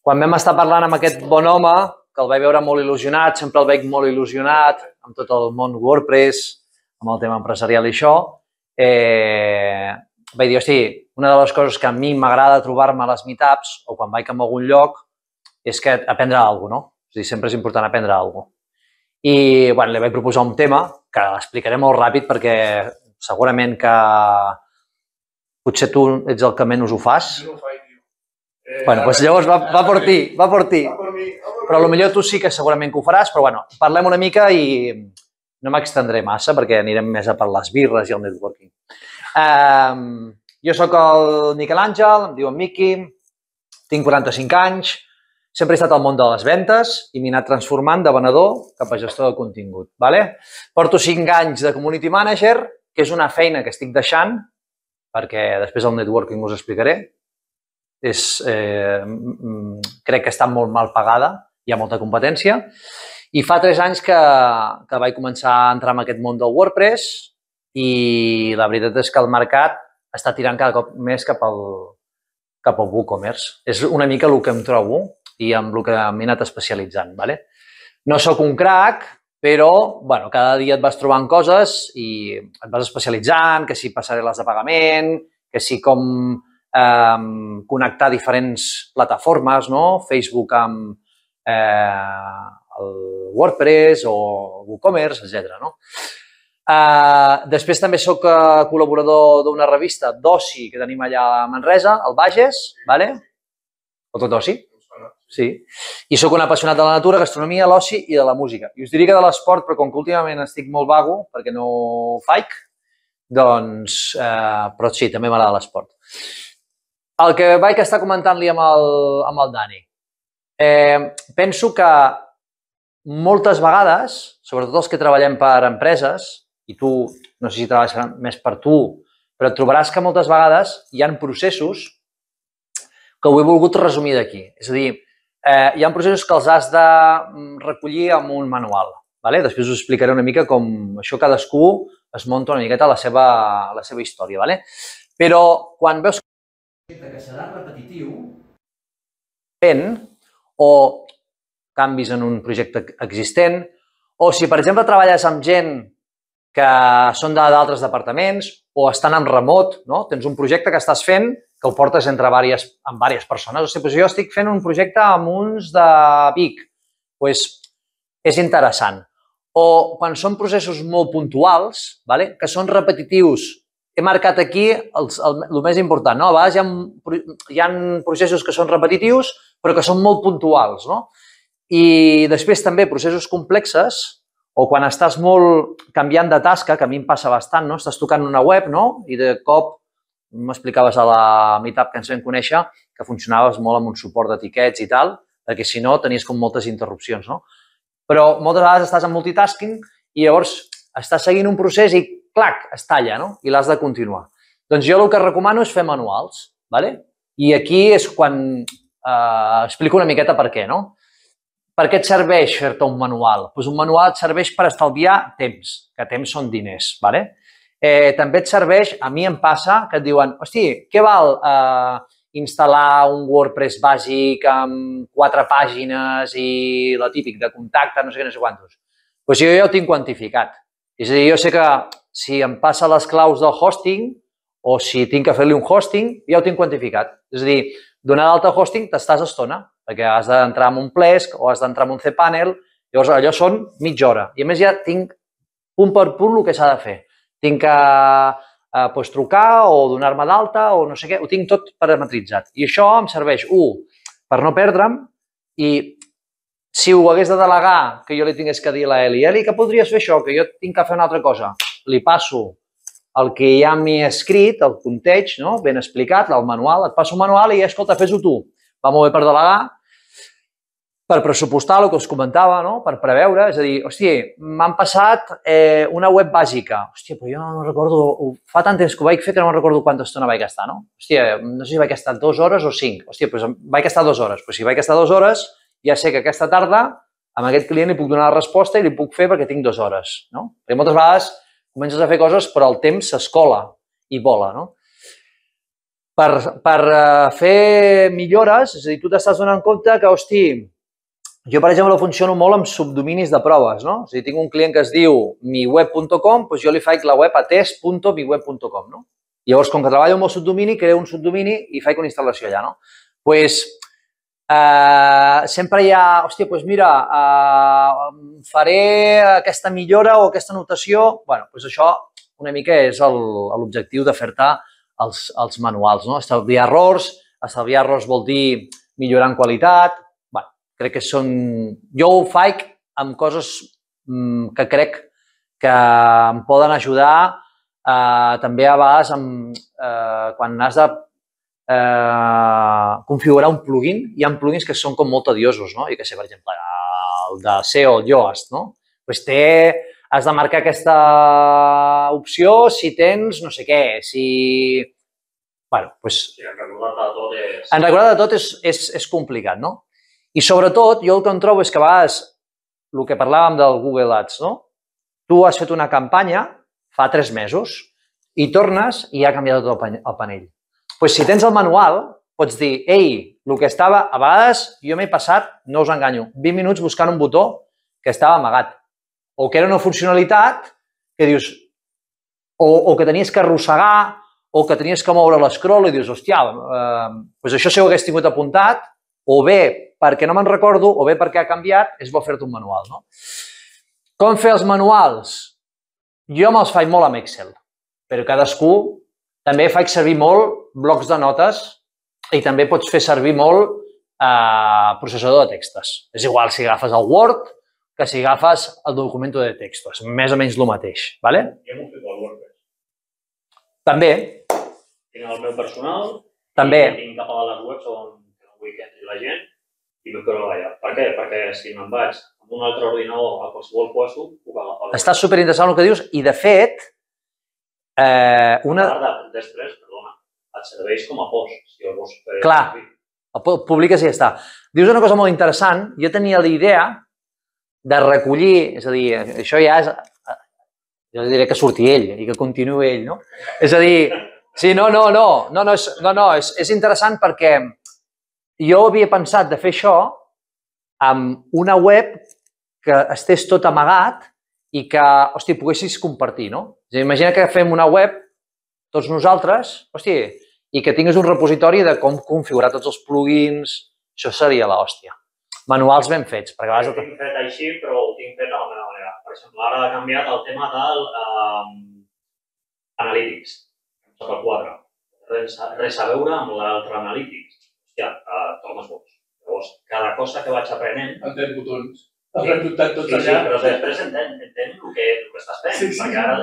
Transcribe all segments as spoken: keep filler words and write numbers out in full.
quan vam estar parlant amb aquest bon home, que el vaig veure molt il·lusionat, sempre el veig molt il·lusionat amb tot el món WordPress, amb el tema empresarial i això, eh, vaig dir, hosti, una de les coses que a mi m'agrada trobar-me a les meetups o quan vaig a algun lloc és que aprendre alguna cosa, no? És a dir, sempre és important aprendre alguna cosa. I, bueno, li vaig proposar un tema que l'explicaré molt ràpid perquè segurament que potser tu ets el que menys ho fas. Jo no ho faig, tio. Eh, bueno, doncs llavors va, va per ti, va per ti. Va per mi, va per Però mi. potser tu sí que segurament que ho faràs, però bueno, parlem una mica i no m'extendré massa perquè anirem més a per les birres i el networking. Um, jo sóc el Miquel Àngel, em diuen Miqui, tinc quaranta-cinc anys, sempre he estat al món de les ventes i m'he anat transformant de venedor cap a gestor de contingut. Vale? Porto cinc anys de community manager, que és una feina que estic deixant, perquè després el networking us explicaré. És, eh, crec que està molt mal pagada, hi ha molta competència. I fa tres anys que, que vaig començar a entrar en aquest món del WordPress i la veritat és que el mercat està tirant cada cop més cap al, cap al WooCommerce. És una mica el que em trobo i amb el que m'he anat especialitzant. Vale? No sóc un crac, però bueno, cada dia et vas trobant coses i et vas especialitzant, que si passarel·les de pagament, que si com eh, connectar diferents plataformes, no? Facebook amb eh, el WordPress o WooCommerce, etcètera. No? Eh, després també sóc col·laborador d'una revista d'oci que tenim allà a Manresa, al Bages, vale? O tot oci? Sí. I sóc un apassionat de la natura, gastronomia, l'oci i de la música. I us diria que de l'esport, però com que últimament estic molt vago, perquè no faig, doncs, eh, però sí, també m'agrada l'esport. El que vaig estar comentant-li amb, el, amb el Dani. Eh, penso que moltes vegades, sobretot els que treballem per empreses, i tu, no sé si treballes més per tu, però et trobaràs que moltes vegades hi ha processos que ho he volgut resumir d'aquí. És a dir, eh, hi ha processos que els has de recollir amb un manual. Vale? Després us explicaré una mica com això cadascú es munta una miqueta la seva, la seva història. Vale? Però quan veus que serà repetitiu, o canvis en un projecte existent, o si, per exemple, treballes amb gent que són d'altres departaments o estan en remot, no? Tens un projecte que estàs fent que el portes entre diverses, amb diverses persones. O sigui, doncs jo estic fent un projecte amb uns de Vic. Doncs és interessant. O quan són processos molt puntuals, vale? Que són repetitius. He marcat aquí els, el, el més important. No? A vegades hi ha, hi ha processos que són repetitius però que són molt puntuals. No? I després també processos complexes o quan estàs molt canviant de tasca, que a mi em passa bastant, no? Estàs tocant una web, no? I de cop m'explicaves a la meetup que ens vam conèixer que funcionaves molt amb un suport d'etiquets i tal, perquè si no tenies com moltes interrupcions, no? Però moltes vegades estàs en multitasking i llavors estàs seguint un procés i, clac, es talla, no? I l'has de continuar. Doncs jo el que recomano és fer manuals, ¿vale? I aquí és quan eh, explico una miqueta per què, no? Per què et serveix fer-te un manual? Doncs un manual et serveix per estalviar temps, que temps són diners, ¿vale? Eh, també et serveix, a mi em passa, que et diuen, hosti, què val eh, instal·lar un WordPress bàsic amb quatre pàgines i la típic de contacte, no sé què, no sé quantos. Doncs jo ja ho tinc quantificat. És a dir, jo sé que si em passa les claus del hosting o si tinc que fer-li un hosting, ja ho tinc quantificat. És a dir, donar d'alta hosting t'estàs estona, perquè has d'entrar en un Plesk o has d'entrar en un cPanel, llavors allò són mitja hora. I a més ja tinc punt per punt el que s'ha de fer. Tinc que eh, pues, trucar o donar-me d'alta o no sé què, ho tinc tot parametritzat. I això em serveix, un, per no perdre'm i si ho hagués de delegar, que jo li tingués que dir a l'Eli, Eli, que podries fer això, que jo tinc que fer una altra cosa, li passo el que ja m'he escrit, el context, no? Ben explicat, el manual, et passo un manual i, escolta, fes-ho tu. Va molt bé per delegar, per pressupostar el que us comentava, no? Per preveure, és a dir, hòstia, m'han passat eh, una web bàsica. Hòstia, però jo no recordo, fa tant temps que ho vaig fer que no me'n recordo quanta estona vaig gastar, no? Hòstia, no sé si vaig gastar dues hores o cinc. Hòstia, doncs vaig gastar dues hores. Però si vaig gastar dues hores, ja sé que aquesta tarda amb aquest client li puc donar la resposta i li puc fer perquè tinc dues hores, no? Perquè moltes vegades comences a fer coses però el temps s'escola i vola, no? per, per uh, fer millores, és a dir, tu t'estàs donant compte que, hosti, jo, per exemple, funciono molt amb subdominis de proves, no? És a dir, tinc un client que es diu miweb punt com, doncs jo li faig la web a test punt miweb punt com, no? Llavors, com que treballo amb el subdomini, creo un subdomini i faig una instal·lació allà, no? Doncs, pues, Uh, sempre hi ha, hòstia, doncs mira, uh, faré aquesta millora o aquesta anotació. Bueno, doncs això una mica és l'objectiu de fer-te els, els manuals, no? Estalviar errors, estalviar errors vol dir millorar en qualitat. Bueno, crec que són... Jo ho faig amb coses mm, que crec que em poden ajudar uh, també a vegades amb, uh, quan has de Eh, configurar un plugin. Hi ha plugins que són com molt tediosos, no? I que sé, per exemple, el de S E O, el Yoast, no? Pues té, has de marcar aquesta opció si tens no sé què, si... Bueno, doncs... Sí, en recordar de tot és... En recordar de tot és, és, és complicat, no? I sobretot, jo el que em trobo és que a vegades, el que parlàvem del Google Ads, no? Tu has fet una campanya fa tres mesos i tornes i ha canviat tot el panell. Pues si tens el manual, pots dir, ei, el que estava, a vegades jo m'he passat, no us enganyo, vint minuts buscant un botó que estava amagat, o que era una funcionalitat que dius, o, o que tenies que arrossegar, o que tenies que moure l'escroll i dius, hòstia, eh, doncs això si ho hagués tingut apuntat, o bé perquè no me'n recordo, o bé perquè ha canviat, és bo fer-te un manual, no? Com fer els manuals? Jo me'ls faig molt amb Excel, però cadascú. També faig servir molt blocs de notes i també pots fer servir molt eh, processador de textos. És igual si agafes el Word que si agafes el document de textos. Més o menys el mateix. ¿Vale? Jo m'ho fico al WordPress. També. Tinc el meu personal. També. I tinc cap a les webs on no vull que entri la gent i m'ho quedo allà. Per què? Perquè si me'n vaig amb un altre ordinador a qualsevol lloc, puc agafar. Està superinteressant el que dius i, de fet, Eh, una... A part de després, perdona, et serveix com a post. Si el vols fer... Clar, el publiques i ja està. Dius una cosa molt interessant. Jo tenia la idea de recollir, és a dir, això ja és... Jo diré que surti ell i que continuï ell, no? És a dir, sí, no, no, no, no, no, és, no, no és, és interessant perquè jo havia pensat de fer això amb una web que estés tot amagat i que, hosti, poguessis compartir, no? És a dir, imagina que fem una web, tots nosaltres, hosti, i que tinguis un repositori de com configurar tots els plugins, això seria l'hòstia. Manuals ben fets, perquè a vegades... Ho tinc fet així, però ho tinc fet de la meva manera. Per exemple, ara ha canviat el tema del uh, Analytics, sota el quatre. Res, res a veure amb l'altre Analytics. Hòstia, uh, tornes boig. Llavors, cada cosa que vaig aprenent... Entén botons. Els hem dubtat tots sí, allà. Sí, però després entén, entén el, que, el que estàs fent, sí, sí. Perquè ara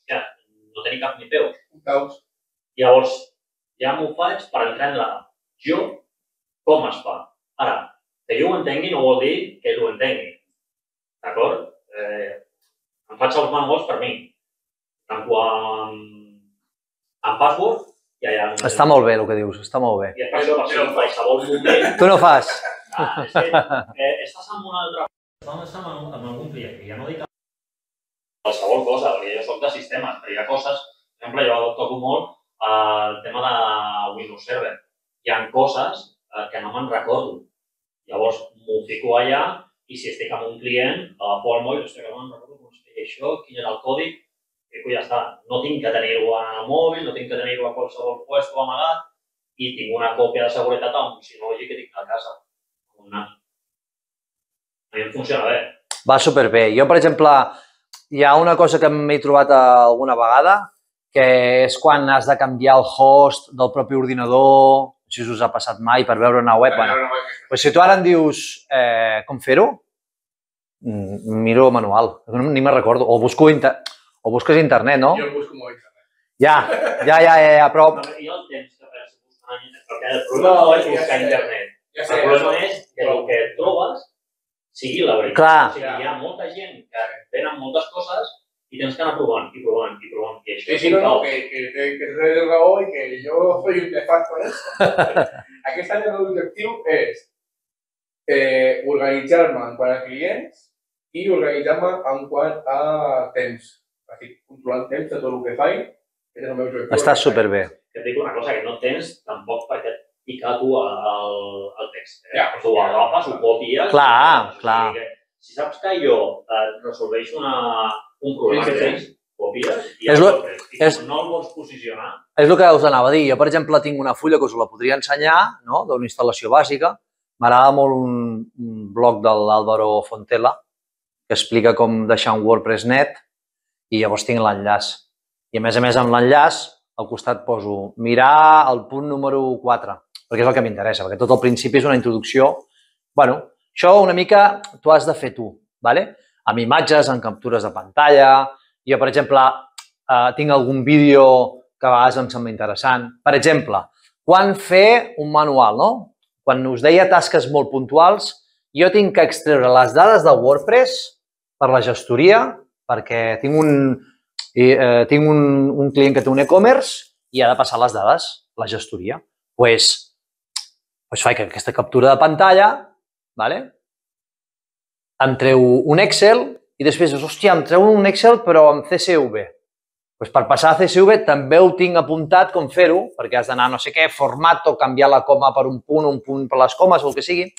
ja, no tenia cap ni peus. Un caos. Llavors, ja m'ho faig per entendre jo com es fa. Ara, que jo ho entengui no vol dir que ell ho entengui. D'acord? Eh, em faig els manuals per mi. Tanco amb, amb password i allà... Està molt bé el que dius, està molt bé. I després, per si en qualsevol moment... Tu no fas. Ah, és que eh, estàs en una altra... Estàs amb, amb algun client, i ja no dic qualsevol cosa, perquè jo soc de sistemes, però hi ha coses, per exemple, jo toco molt el tema de Windows Server. Hi ha coses que no me'n recordo. Llavors, m'ho fico allà i si estic amb un client, agafo el mòbil, hòstia, que no me'n recordo com es feia això, quin era el còdig, i ja està. No tinc que tenir-ho al mòbil, no tinc que tenir-ho a qualsevol lloc amagat i tinc una còpia de seguretat amb un Synology que tinc a casa. Una. A mi em funciona bé. Va superbé. Jo, per exemple, hi ha una cosa que m'he trobat alguna vegada, que és quan has de canviar el host del propi ordinador, no sé si us ha passat mai per veure una web. Bueno, pues si tu ara em dius eh, com fer-ho, miro manual, ni me'n recordo. O, busco inter... o busques internet, no? Jo busco molt internet. Ja, ja, ja, ja, ja però... I el temps que perds buscant internet, perquè el problema no és buscar internet. El problema és que el que trobes sigui la veritat. Clar. O sigui, hi ha molta gent que tenen moltes coses i tens que anar provant i provant i provant. I això sí, sí, no, no, que, que, que, que és el raó i que jo soy un nefasto en això. Aquest any el meu objectiu és eh, organitzar-me en quant a clients i organitzar-me en quant a temps. Estic controlant temps de tot el que faig. És el meu objectiu. Està superbé. que et dic una cosa, que no tens tampoc perquè et picar tu el, el text. Eh? Ja, tu ho agafes, ho copies... Clar, i, clar. Que, si saps que jo eh, resolveixo una, un problema Sí, sí, que sí. tens, copies i És el lo- tens. I és- com no el vols posicionar, És el que us anava a dir. Jo, per exemple, tinc una fulla que us la podria ensenyar, no?, d'una instal·lació bàsica. M'agrada molt un, un blog de l'Àlvaro Fontela que explica com deixar un WordPress net i llavors tinc l'enllaç. I a més a més amb l'enllaç al costat poso mirar el punt número quatre, perquè és el que m'interessa, perquè tot al principi és una introducció. Bueno, això una mica t'ho has de fer tu, ¿vale? Amb imatges, amb captures de pantalla. Jo, per exemple, eh, tinc algun vídeo que a vegades em sembla interessant. Per exemple, quan fer un manual, no? Quan us deia tasques molt puntuals, jo tinc que extreure les dades de WordPress per la gestoria, perquè tinc un, eh, tinc un, un client que té un e-commerce i ha de passar les dades, la gestoria. Doncs pues, pues faig aquesta captura de pantalla, ¿vale? Em treu un Excel i després dius, hòstia, em treu un Excel però amb C S V. Pues per passar a C S V també ho tinc apuntat com fer-ho, perquè has d'anar a no sé què, format o canviar la coma per un punt, un punt per les comes o el que sigui.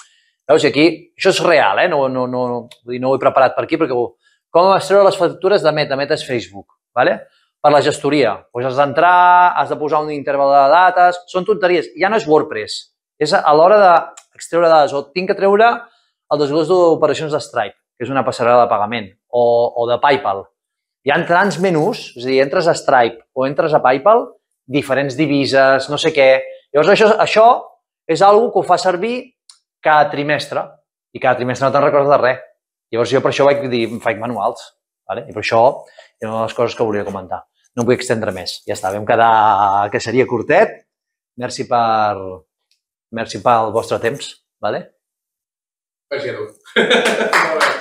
Veus, i aquí, això és real, eh? No, no, no, vull dir, no ho he preparat per aquí, perquè com es treure les factures de Meta? Meta és Facebook, ¿vale? Per la gestoria. Pues has d'entrar, has de posar un interval de dates, són tonteries. Ja no és WordPress, és a l'hora d'extreure dades. O tinc que treure el desglòs d'operacions de Stripe, que és una passarel·la de pagament, o, o de PayPal. Hi ha tants menús, és a dir, entres a Stripe o entres a PayPal, diferents divises, no sé què. Llavors, això, això és una cosa que ho fa servir cada trimestre, i cada trimestre no te'n recordes de res. Llavors, jo per això vaig dir, em faig manuals, ¿vale? I per això és una de les coses que volia comentar. No em vull extendre més. Ja està, vam quedar que seria curtet. Merci per, merci pel vostre temps, ¿vale? Merci a tu. Molt bé.